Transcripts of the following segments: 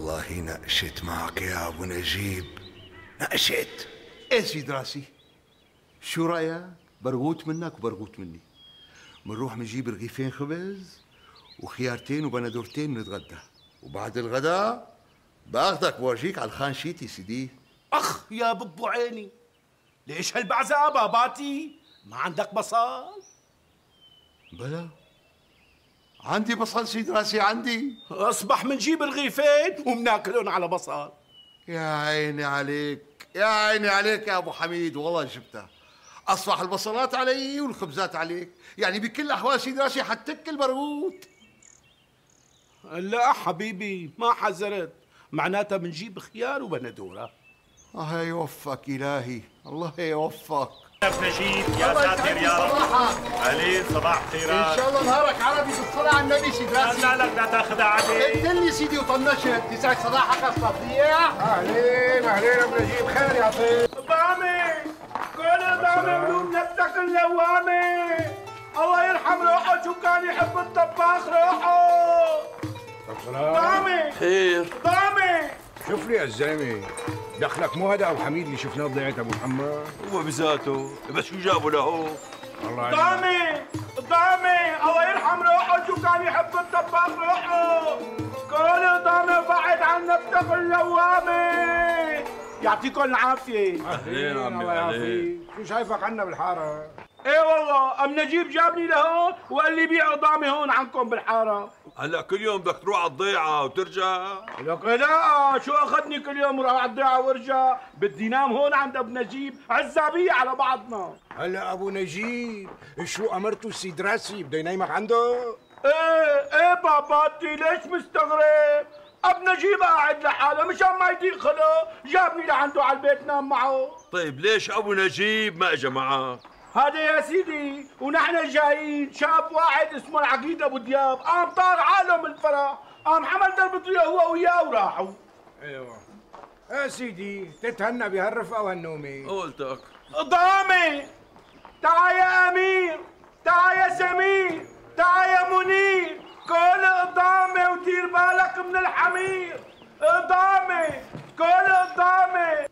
والله نقشت معك يا ابو نجيب، نقشت. ايه سيد راسي، شو رايك؟ برغوت منك وبرغوت مني. منروح منجيب رغيفين خبز وخيارتين وبندورتين نتغدى، وبعد الغداء باخذك بورجيك على الخان شيتي سيدي. اخ يا ببو عيني، ليش هالبعزة باباتي؟ ما عندك بصل؟ بلا عندي بصل سيد راسي، عندي. اصبح منجيب رغيفين ومناكلهم على بصل. يا عيني عليك، يا عيني عليك يا ابو حميد، والله جبتها. اصبح البصلات علي والخبزات عليك، يعني بكل الاحوال سيد راسي حتاكل برغوت. لا حبيبي ما حذرت، معناتها بنجيب خيار وبندوره. الله يوفقك الهي، الله يوفقك. ابن نجيب يا ساتر يا رب. علي صباح خيرات. ان شاء الله نهارك عربي بالصلاة على النبي سيد راسي. لا لك لا تاخذها علي. قلت سيدي وطنشت، يسعد صباحك الصبيح. اهلين اهلين ابو نجيب، خير يعطيك. ضامي كل ضامي بدون نفسك اللوامي. الله يرحم روحه شو كان يحب الطباخ روحه. ضامي خير ضامي. شوف لي يا الزلمه، دخلك مو هذا ابو حميد اللي شفناه بضيعه ابو محمد؟ هو بذاته، بس شو جابه له؟ والله ضامي الله يرحم روحه شو كان يحب الطباخ روحه. كل ضامي بعد عن نفسك اللوامي. يعطيكم العافيه. اهلين عمي، الله يعافيك. شو شايفك عنا بالحاره؟ ايه والله ام نجيب جابني لهون وقال لي بيعوا ضامي هون عندكم بالحاره. هلا كل يوم بدك تروح على الضيعه وترجع؟ لك لا، شو اخذني كل يوم وراح على الضيعه وارجع؟ بدي نام هون عند ابو نجيب عزابيه على بعضنا. هلا ابو نجيب شو امرته السيد راسي بده ينيمك عنده؟ ايه باباتي ليش مستغرب؟ ابو نجيب قاعد لحاله مشان ما يضيق خلقه جابني لعنده على البيت نام معه. طيب ليش ابو نجيب ما اجى معك؟ هذا يا سيدي ونحن جايين شاب واحد اسمه العقيد ابو دياب قام طار عالم الفرح، قام حمل دربته هو وياه وراحوا. ايوه يا سيدي، تتهنى بهالرفقه وهالنومه. قلتك ضامي تعا يا امير، تعا يا سمير، تعا يا منير، كل ضامي ودير بالك من الحمير. ضامي كل ضامي.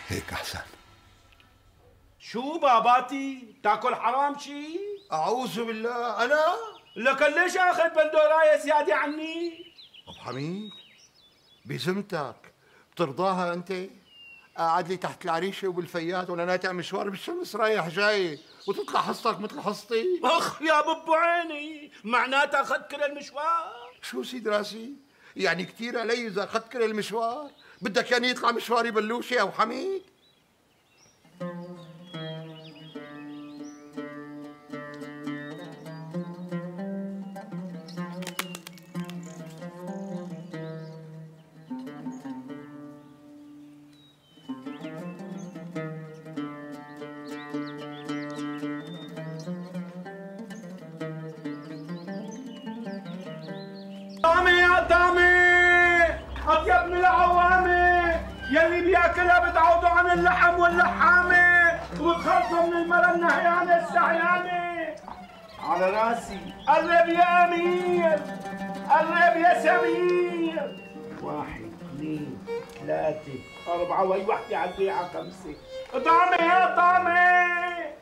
هيك احسن. شو باباتي؟ تاكل حرام شي؟ اعوذ بالله. انا لك ليش اخذ بندورايه زياده عني؟ ابو حميد بذمتك بترضاها انت؟ قاعد لي تحت العريشه وبالفيات وانا ناتع مشوار بالشمس رايح جاي وتطلع حصتك مثل حصتي؟ اخ يا ببو عيني، معناتها اخذت كل المشوار؟ شو سيد راسي؟ يعني كثير علي اذا اخذت كل المشوار؟ بدك يعني يطلع مشواري بلوشي يا ابو حميد؟ طعمي يا طعمي، اطيب من العوامي، يلي بياكلها بتعوضوا عن اللحم واللحامه وبتخلصوا من المرة النهيانه السعيانه. على راسي، قرب يا امير، قرب يا سمير. 1 2 3 4 وهي وحده على البيعه 5. طعمي يا طعمي،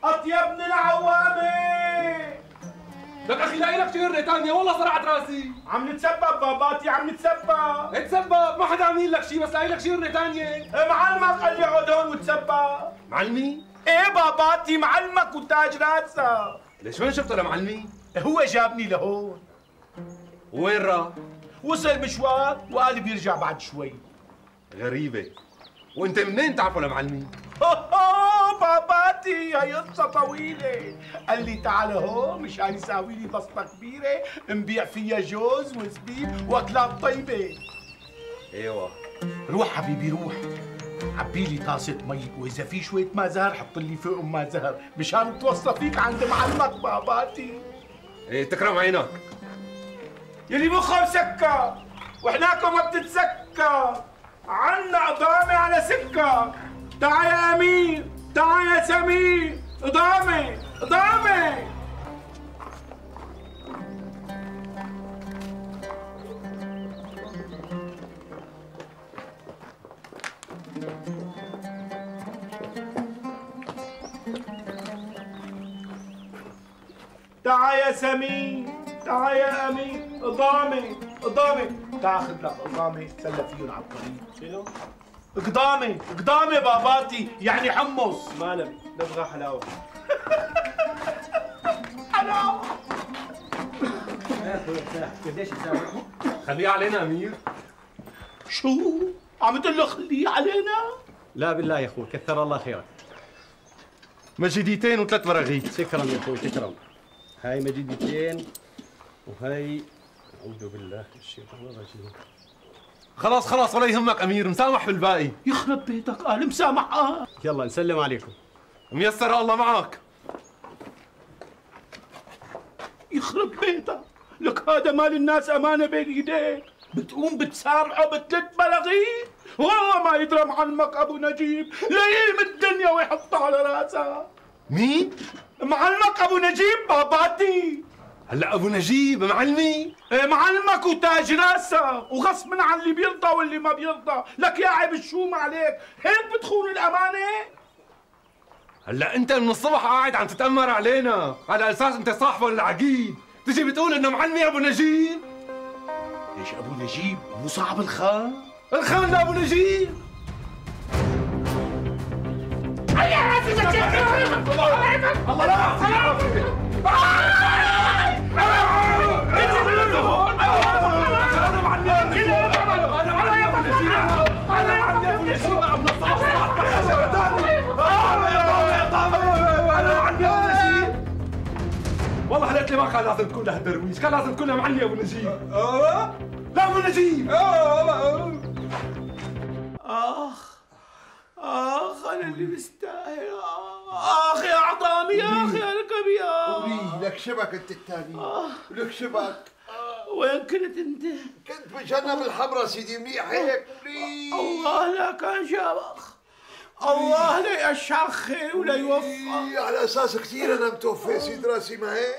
اطيب من العوامي. لك اخي لاقي لك شغله ثانيه، والله صرعت راسي. عم نتسبب باباتي، عم نتسبب. اتسبب، ما حدا عامل لك شيء، بس لاقي لك شغله ثانيه. معلمك قال لي عود هون وتسبب. معلمي؟ ايه باباتي معلمك وتاج راسك. ليش وين شفته لمعلمي؟ هو جابني لهون. وين راح؟ وصل مشوار وقال بيرجع بعد شوي. غريبه. وانت منين تعرفه لمعلمي؟ باباتي هي قصة طويلة. قال لي تعال هون مشان يساوي لي بسطة كبيرة نبيع فيها جوز وزبيب واكلات طيبة. ايوه. روح حبيبي روح، عبي لي طاسة مي، وإذا في شوية ماء زهر حط لي فوقهم ماء زهر مشان توصى فيك عند معلمك باباتي. ايه تكرم عينك. يلي مخه مسكر وحناكم ما بتتسكر، عنا قضامة على سكر. تعا يا أمير، تعا يا سمير، قضامة قضامة. تعا يا سمير، تعا يا أمير، قضامة قضامة. تعا خذ لك قضامة تسلى فيهم على الطريق. شنو؟ قضامة قضامة باباتي، يعني حمص. ما نبي، نبغى حلاوة. حلاوة. قديش تساوي؟ خليها علينا امير. شو؟ عم تقول له خليه علينا؟ لا بالله يا اخوي، كثر الله خيرك. مجديتين وثلاث براغيث. تكرم يا اخوي تكرم. هاي مجدتين وهي اعوذ بالله من الشيطان الرجيم. خلاص خلاص ولا يهمك امير، مسامح بالباقي. يخرب بيتك، قال مسامح. يلا نسلم عليكم. ميسر الله معك. يخرب بيتك، لك هذا مال الناس امانه بين ايديك، بتقوم بتسامحه بثلاث بلاغيث؟ والله ما يدرى معلمك ابو نجيب ليم الدنيا ويحطها على راسها. مين؟ معلمك ابو نجيب باباتي. هلا ابو نجيب معلمي؟ ايه معلمك وتاج راسه، وغصب عن اللي بيرضى واللي ما بيرضى. لك يا عيب شو ما عليك، هيك بتخون الامانه؟ هلا انت من الصبح قاعد عم تتامر علينا على اساس انت صاحبه العقيد، تجي بتقول انه معلمي ابو نجيب؟ ليش ابو نجيب مو صاحب الخان؟ الخان لابو نجيب. الله والله حلقت لي ما كان لازم تكون له درويش، كان لازم تكون له معلي ابو نجيب. لا ابو نجيب. اخ انا اللي بستاهل. اخ يا عظامي، يا اخي يا ركبي. ولي لك شبك انت الثاني، لك شبك. وين كنت انت؟ كنت بجنب الحمراء سيدي، منيح هيك. ولي الله لا كان شبخ، الله لا يشخي ولا يوفق. على اساس كثير انا متوفي سيد راسي، ما هيك؟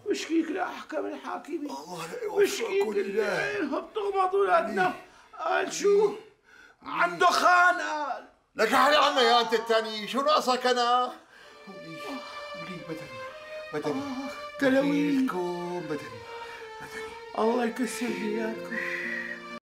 وشكيك لاحكم الحاكمين، الله لا وشكيك يوفقكم لله. اللي بتغمض ولادنا. قال شو؟ عنده خان قال. لك حالي عنا يا انت الثاني، شو ناقصك انا؟ ولي بدني تلوين بدني الله يكسر لي اياكم.